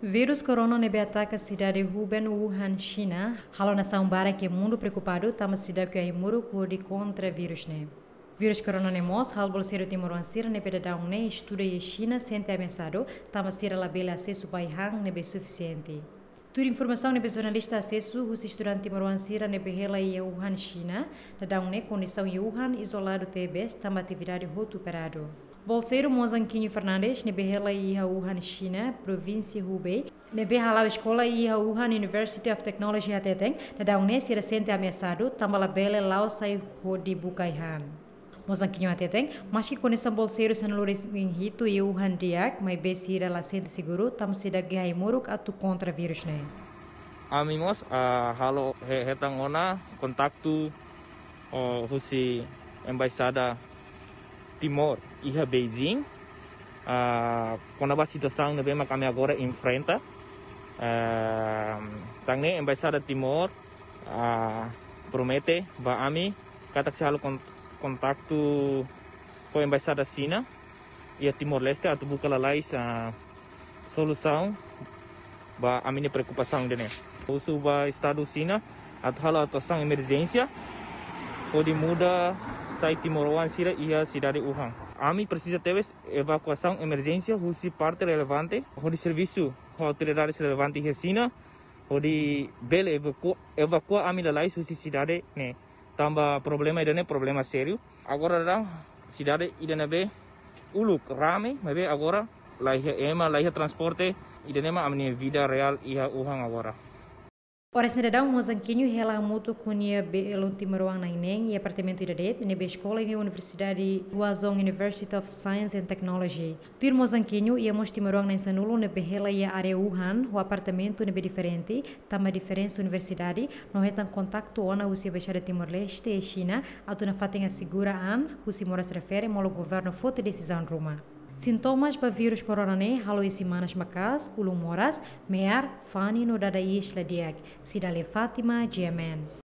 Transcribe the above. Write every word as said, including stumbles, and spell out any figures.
Vírus corona ne'ebé ataka sidade Hubei, Wuhan, Xina, halo nasaun barak iha mundu preokupadu tanba seidauk iha ai-moruk hodi kontra vírus ne'e. Vírus corona ne'e mós halo bolseiru timoroan sira ne'ebé daudaun ne'e estuda iha Xina sente ameasadu, tanba sira labele asesu ba ai-han ne'ebé sufisiente. Tuir informasaun ne'ebé jornalista asesu husi estudante timoroan sira ne'ebé hela iha Wuhan, Xina, daudaun ne'e kondisaun iha Wuhan izoladu tebes tanba atividade hotu paradu. Bolseiru Mozanquinho Fernandes ne'ebé hela iha Wuhan, Xina, provínsia Hubei, ne'ebé hala'o eskola iha Wuhan University of Technology hateten, daudaun ne'e sira sente ameasadu tanba labele la'o sai hodi buka ai-han. Mozanquinho hateten, maski kondisaun bolseiru sanulu-resin-hitu iha Wuhan di'ak, maibé sira la sente seguru tanba seidauk iha ai-moruk atu kontra vírus ne'e. Ami mós, ah, halo he-, hetan ona kontaktu, oh, husi embaixada Timor iha Beijing, ah, kona-ba situasaun ne'ebé mak ami agora enfrenta. Ah, tan ne'e embaixada Timor, ah, promete ba ami katak sei halo kon-, kontaktu ho embaixada Xina iha Timor-Leste atu buka lalais, ah, solusaun ba ami-nia preokupasaun ida-ne'e. Husu ba Estadu Xina atu halo atuasaun emerjénsia hodi muda sai timoroan sira iha sidade Wuhan. Ami presiza tebes evakuasaun emerjénsia husi parte relevante hodi servisu ho autoridades relevante iha Xina hodi bele evaku-, evakua ami lalais husi sidade ne'e. Tanba problema ida-ne'e problema sériu. Agora daudaun sidade ida ne'ebé uluk rame, maibé agora la iha ema, la iha transporte, ida-ne'e mak ami-nia vida reál iha Wuhan agora. Oras ne'e daudaun Mozanquinho hela hamutuk ho nia belun timoroan na'in-neen iha apartamentu ida de'it ne'ebé eskola iha Universidade Huazhong University of Science and Technology. Tuir Mozanquinho, iha mós timoroan na'in-sanulu ne'ebé hela iha área Wuhan ho apartamentu ne'ebé diferente, tanba diferensa universidade, no hetan kontaktu ona husi Embaixada Timor-Leste iha Xina atu nafatin asegura an husi moras refere molok governu foti desizaun ruma. Sintomas ba vírus corona ne'e halo isin-manas maka'as, ulun moras, me'ar, fani no dada iis la di'ak. Cidalia Fátima, G M N.